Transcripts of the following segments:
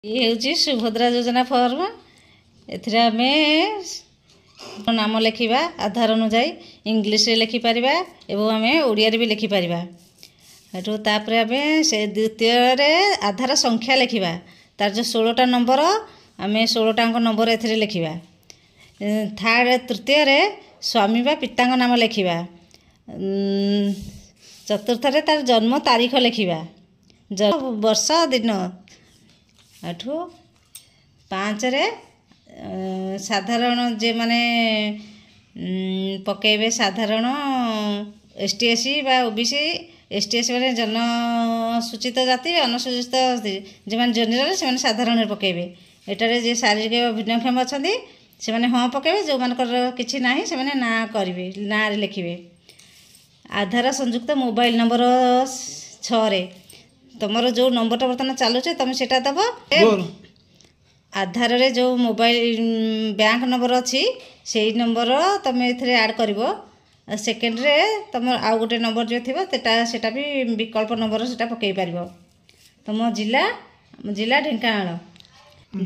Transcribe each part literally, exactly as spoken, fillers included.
ଇଏ ହେଉଛି ସୁଭଦ୍ରା ଯୋଜନା ଫର୍ମ। ଏଥିରେ ଆମେ ନାମ ଲେଖିବା ଆଧାର ଅନୁଯାୟୀ। ଇଂଲିଶରେ ଲେଖିପାରିବା ଏବଂ ଆମେ ଓଡ଼ିଆରେ ବି ଲେଖିପାରିବା। ହେଠୁ ତାପରେ ଆମେ ସେ ଦ୍ୱିତୀୟରେ ଆଧାର ସଂଖ୍ୟା ଲେଖିବା। ତାର ଯେଉଁ ଷୋହଳଟା ନମ୍ବର, ଆମେ ଷୋହଳଟାଙ୍କ ନମ୍ବର ଏଥିରେ ଲେଖିବା। ଥାର୍ଡ଼, ତୃତୀୟରେ ସ୍ୱାମୀ ବା ପିତାଙ୍କ ନାମ ଲେଖିବା। ଚତୁର୍ଥରେ ତାର ଜନ୍ମ ତାରିଖ ଲେଖିବା, ବର୍ଷ, ଦିନ। ଏଠୁ ପାଞ୍ଚରେ ସାଧାରଣ ଯେଉଁମାନେ ପକାଇବେ, ସାଧାରଣ, ଏସ୍ ଟି, ଏସ୍ ସି ବା O B C. S T, S ମାନେ ଜନସୂଚିତ ଜାତି, ଅନୁସୂଚିତ। ଯେଉଁମାନେ ଜେନେରାଲ, ସେମାନେ ସାଧାରଣରେ ପକାଇବେ। ଏଠାରେ ଯିଏ ଶାରୀରିକ ଭିନ୍ନକ୍ଷମ ଅଛନ୍ତି, ସେମାନେ ହଁ ପକାଇବେ। ଯେଉଁମାନଙ୍କର କିଛି ନାହିଁ, ସେମାନେ ନା କରିବେ, ନାଁରେ ଲେଖିବେ। ଆଧାର ସଂଯୁକ୍ତ ମୋବାଇଲ ନମ୍ବର, ଛଅରେ ତୁମର ଯେଉଁ ନମ୍ବରଟା ବର୍ତ୍ତମାନ ଚାଲୁଛି, ତୁମେ ସେଇଟା ଦେବ। ଆଧାରରେ ଯେଉଁ ମୋବାଇଲ ବ୍ୟାଙ୍କ ନମ୍ବର ଅଛି, ସେଇ ନମ୍ବର ତୁମେ ଏଥିରେ ଆଡ଼୍ କରିବ। ସେକେଣ୍ଡରେ ତୁମର ଆଉ ଗୋଟେ ନମ୍ବର ଯେଉଁ ଥିବ, ସେଟା ସେଟା ବି ବିକଳ୍ପ ନମ୍ବର, ସେଟା ପକାଇ ପାରିବ। ତୁମ ଜିଲ୍ଲା ଜିଲ୍ଲା ଢେଙ୍କାନାଳ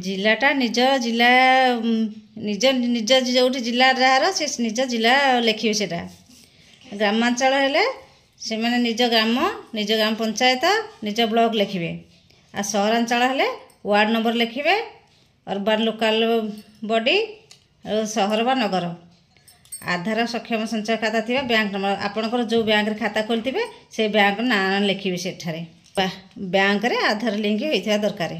ଜିଲ୍ଲାଟା, ନିଜ ଜିଲ୍ଲା, ନିଜ ନିଜ ଯେଉଁଠି ଜିଲ୍ଲା ଯାହାର, ସେ ନିଜ ଜିଲ୍ଲା ଲେଖିବେ ସେଇଟା। ଗ୍ରାମାଞ୍ଚଳ ହେଲେ ସେମାନେ ନିଜ ଗ୍ରାମ, ନିଜ ଗ୍ରାମ ପଞ୍ଚାୟତ, ନିଜ ବ୍ଲକ ଲେଖିବେ। ଆଉ ସହରାଞ୍ଚଳ ହେଲେ ୱାର୍ଡ଼ ନମ୍ବର ଲେଖିବେ, ଅର୍ବାନ୍ ଲୋକାଲ ବଡି, ସହର ବା ନଗର। ଆଧାର ସକ୍ଷମ ସଞ୍ଚୟ ଖାତା ଥିବା ବ୍ୟାଙ୍କ ନମ୍ବର, ଆପଣଙ୍କର ଯେଉଁ ବ୍ୟାଙ୍କରେ ଖାତା ଖୋଲିଥିବେ, ସେ ବ୍ୟାଙ୍କ ନାଁ ଲେଖିବେ ସେଠାରେ। ବ୍ୟାଙ୍କରେ ଆଧାର ଲିଙ୍କ ହୋଇଥିବା ଦରକାର।